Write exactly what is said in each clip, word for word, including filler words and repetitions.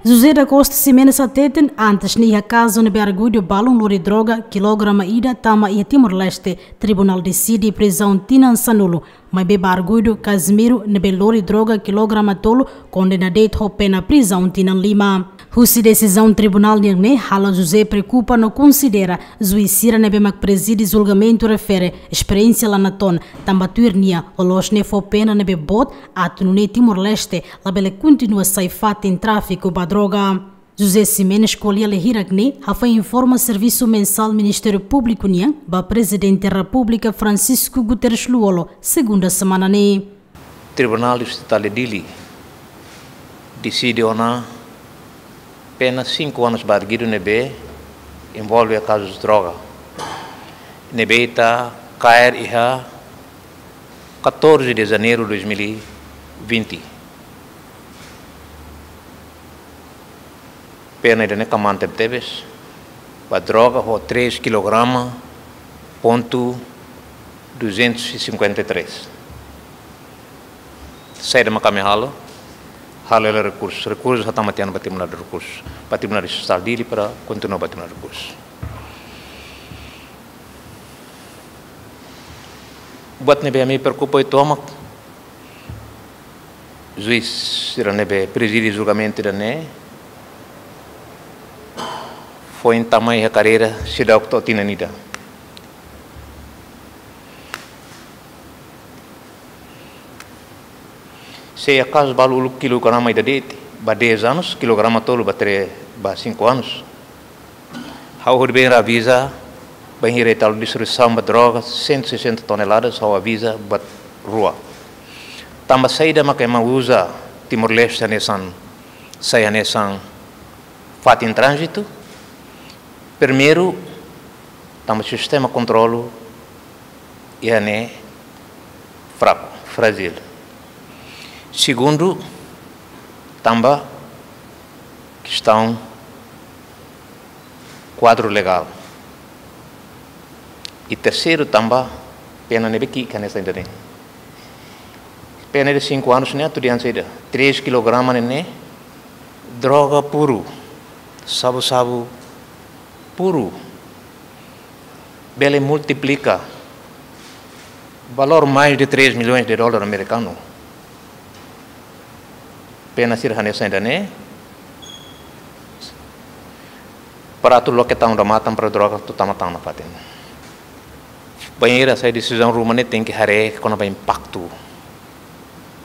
José da Costa Ximenes hateten, antes ne'e iha kazu ne'ebé arguidu balun lori droga kilograma ida tama iha Timor-Leste, tribunál deside prizaun tinan sanulu, maibé ba arguidu Casimiro ne'ebé lori droga kilograma tolu kondena de'it ho pena prizaun tinan lima. Husi desizaun tribunál nian ne'e halo José preokupa no konsidera juís sira ne'ebé mak prezide julgamentu refere esperiénsia la natoon, tanba tuir nia loloos ne'e fó pena ne'ebé boot atu nune'e Timor-Leste labele kontinua sai fatin tráfiku ba droga. José Ximenes ko'alia lia hirak ne'e hafoin informa servisu mensál Ministériu Públiku nian ba Prezidente Repúblika Francisco Guterres Lú-Olo, segunda semana ne'e. Tribunál Distritál de Dili deside ona pena cinco anos ba arguidu ne'ebé envolve kazu droga, ne'ebé ita kaer iha catorze de janeiro de dois mil e vinte. Pena ida-ne'e kmaan tebetebes ba droga ho três kilograma ponto duzentos e cinquenta e três. Saida mak ami halo? Halo hela rekursu. Rekursu hatama tiha ona ba Tribunál de Rekursu, ba Tribunál Distritál Dili para kontinua ba Tribunál de Rekursu. Buat ne'ebé ami preokupa uitoan mak juís sira ne'ebé prezide julgamentu ida-ne'e foin tama iha kadeira seidauk to'o tinan ida. Se iha kazu balu uluk kilograma ida de'it, ba dez anos, kilograma tolu ba tre-, ba cinco anos. Ha'u hodi bem aviza, bainhira ita halo distribuisaun ba droga, cento e sessenta toneladas, ha'u aviza buat rua. Tanba saida mak ema uza Timor-Leste hanesan, sai hanesan fatin tránzitu. Primeiru, tanba sistema kontrolu iha ne'e fraku, frájil. Segundu, tanba kestaun kuadru legál. I terseiru, tanba pena ne'ebé ki'ik hanesan ida-ne'e. Pena de cinco anos ne'e atu dehan saida? Três kilograma ne'e, ne'e droga puru, xabu-xabu puru, bele multiplika valór mais de três milhões de dólar amerikanu. Pena sira hanesan ida-ne'e, para atu loke tan odamatan para droga atu tama tan nafatin. Bainhira sai desizaun ruma ne'e tenke haree kona-ba impaktu.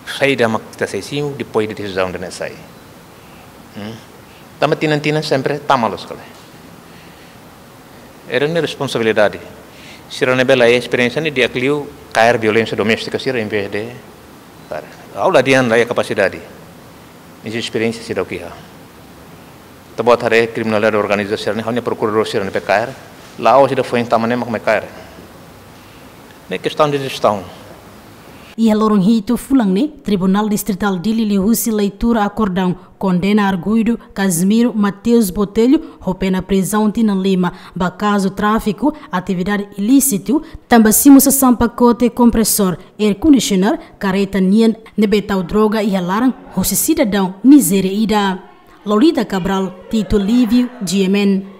Saida mak ita sei simu depois de desizaun ida-ne'e sai. Hmm? Tanba tinan-tinan sempre tama loos kale. Ida-ne'e responsabilidade. Sira ne'ebé la iha esperiénsia ne'e di'ak liu kaer violénsia doméstika sira em vez de, ha'u la dehan la iha kapasidade. Mas esperiénsia seidauk iha. Ita-boot haree kriminalidade organizada sira-ne'e, ha'u-nia prokuradór sira ne'ebé kaer, la'ós ida foin tama ne'e mak mai kaer. Ne'e kestaun de jestaun. Iha loron hitu fulan ne'e, Tribunál Distritál Dili liuhusi leitura akordaun kondena arguidu Casimiro Mateus Botelho ho pena prizaun tinan lima ba kazu tráfiku atividade ilísitu, tanba simu sasán pakote kompresór, air conditioner, karreta nian ne'ebé tau droga iha laran husi sidadaun Nizéria ida. Lolita Cabral, Tito Lívio, G M N.